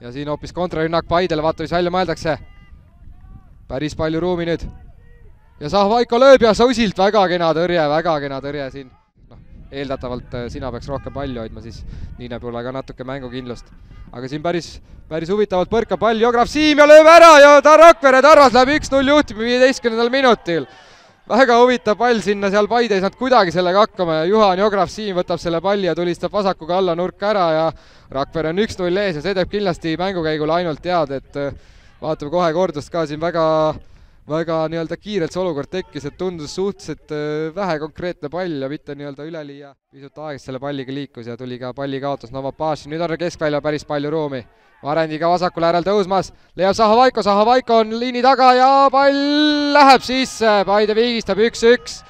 ja siin hoopis kontrarünnak Paidele, vaata mis välja mõeldakse. Päris palju ruumi nüüd. Ja Zahhovaiko lööb ja Susilt väga kena tõrje siin. Eeldatavalt sina peaks rohkem palli hoidma, siis nii näeb olla ka natuke mängukindlust. Aga siin päris huvitavalt põrkab pall Jograf Siim ja lööb ära ja Rakvere Tarvas läheb 1-0 juhtima 15. minutil. Väga huvitav pall sinna, seal Paide ei saanud kuidagi sellega hakkama ja Juhan Jograf Siim võtab selle palli ja tulistab vasakuga alla nurka ära ja Rakvere on 1-0 ees ja see teeb kindlasti mängukäigul ainult tead, et vaatame kohe kordust ka siin väga nii-öelda kiirelt see olukord tekkis, et tundus suhteliselt vähe konkreetne pall ja mitte nii-öelda üleliia. Pisut aegast selle palliga liikus ja tuli ka palli kaotus Novopaši. Nüüd on keskvälja päris palju ruumi. Varendi ka vasakul äärel tõusmas. Leiab Zahhovaiko on liini taga ja pall läheb sisse. Paide viigistab 1-1.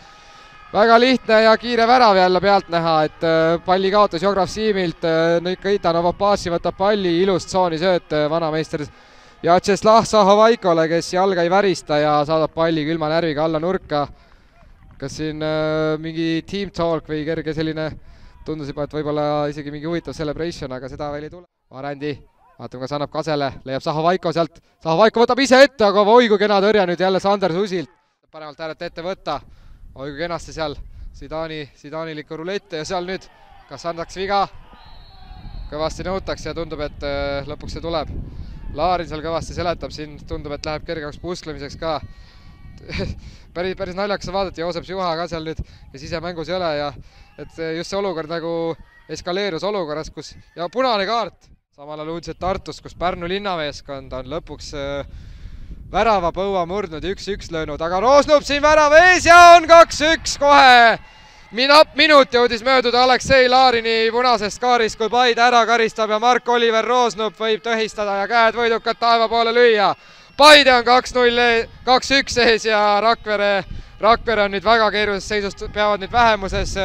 Väga lihtne ja kiire värav jälle pealt näha, et palli kaotus Jograf Siimilt. Nõika Novopaši võtab palli, ilus tsooni sööt vanameister Vjatšeslav Zahhovaikole, kes jalga ei värista ja saadab palli külma närviga alla nurka. Kas siin mingi team talk või kerge selline, tundus juba, et võib-olla isegi mingi huvitav celebration, aga seda veel ei tule. Varendi, vaatame, kas annab Kasele, leiab Zahhovaiko sealt. Zahhovaiko võtab ise ette, aga oi kui kena tõrja nüüd jälle Sander Susilt. Paremalt äärelt ette võtta, oi kui kenasti seal Zidanilikku rulette ja seal nüüd, kas annaks viga? Kõvasti nõutakse ja tundub, et lõpuks see tuleb. Laarin seal kõvasti seletab, siin tundub, et läheb kergeks pusklemiseks ka. päris naljakas vaadati, Joosep Juha ka seal nüüd ja sisemängus ei ole ja et just see olukord nagu eskaleerus olukorras, kus ja punane kaart. Samal ajal uudised Tartus, kus Pärnu linnameeskond on lõpuks värava põua murdnud, 1-1 löönud, aga Roosnup siin värava ees ja on 2-1 kohe. Minut jõudis mööduda Aleksei Laarini punasest kaarist, kui Paide ära karistab ja Mark-Oliver Roosnup võib tõhistada ja käed võidukad taeva poole lüüa. Paide on 2-1 ees ja Rakvere on nüüd väga keerulises seisust, peavad nüüd vähemuses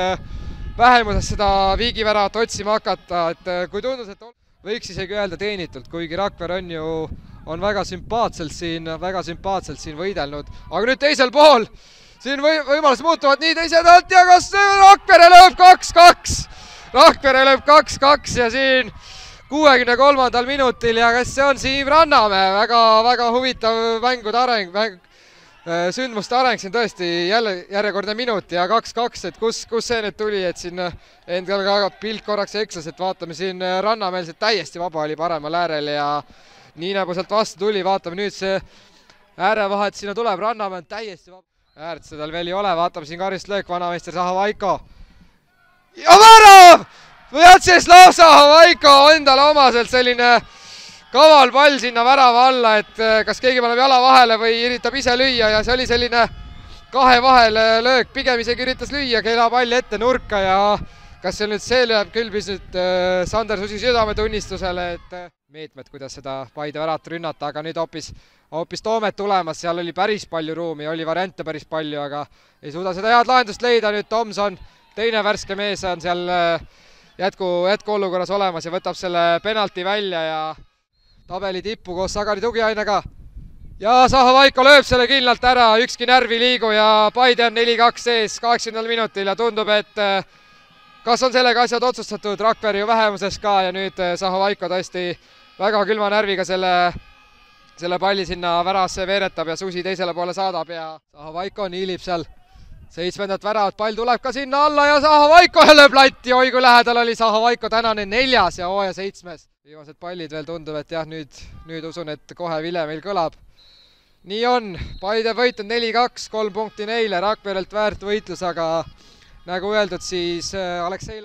seda viigiväravat otsima hakata, et kui tundus, et võiks isegi öelda teenitult, kuigi Rakvere on väga sümpaatselt siin võidelnud, aga nüüd teisel pool siin võimalused muutuvad nii teiselt alt ja kas Rakvere lööb 2-2? Rakvere lööb 2-2 ja siin 63. minutil ja kas see on Siim Rannamäe, väga huvitav mängude areng, sündmuste areng siin tõesti jälle järjekordne minut ja 2-2, et kus see nüüd tuli, et siin endal ka pilt korraks eksas, et vaatame siin Rannamäel see täiesti vaba oli paremal äärel ja nii nagu sealt vastu tuli, vaatame nüüd see äärevahet sinna tuleb, Rannamäe on täiesti vaba. Äärt seda veel ei ole, vaatame siin karistlöök, vanameister Zahhovaiko. Ja värav! Vjatšeslav Zahhovaiko endale omaselt selline kaval pall sinna värava alla, et kas keegi paneb jala vahele või üritab ise lüüa ja see oli selline kahe vahele löök, pigem isegi üritas lüüa, keela palli ette nurka ja kas see lööb külbis nüüd Sander Susi südametunnistusele, et meetmed, kuidas seda Paide väravat rünnata, aga nüüd hoopis Toomet tulemas, seal oli päris palju ruumi, oli variante päris palju, aga ei suuda seda head lahendust leida, nüüd Tomson, teine värske mees on seal jätkuolukorras olemas ja võtab selle penalti välja ja tabeli tippu koos Sagari tugiainega. Ja Zahhovaiko lööb selle kindlalt ära, ükski närv ei liigu ja Paide on 4-2 ees 80. minutil ja tundub, et kas on sellega asjad otsustatud, Rakvere ju vähemuses ka ja nüüd Zahhovaiko tõesti väga külma närviga selle palli sinna väravasse veeretab ja Susi teisele poole saadab ja Zahhovaiko niilib seal 7. väravat, pall tuleb ka sinna alla ja Zahhovaiko lööb latti, oi kui lähedal oli Zahhovaiko tänane 4. ja hooaja 7. Viimased pallid veel tundub, et jah, nüüd usun, et kohe vile meil kõlab. Nii on, Paide võitnud 4-2, 3 punkti neile, Rakverelt väärt võitlus, aga nagu öeldud, siis Aleksei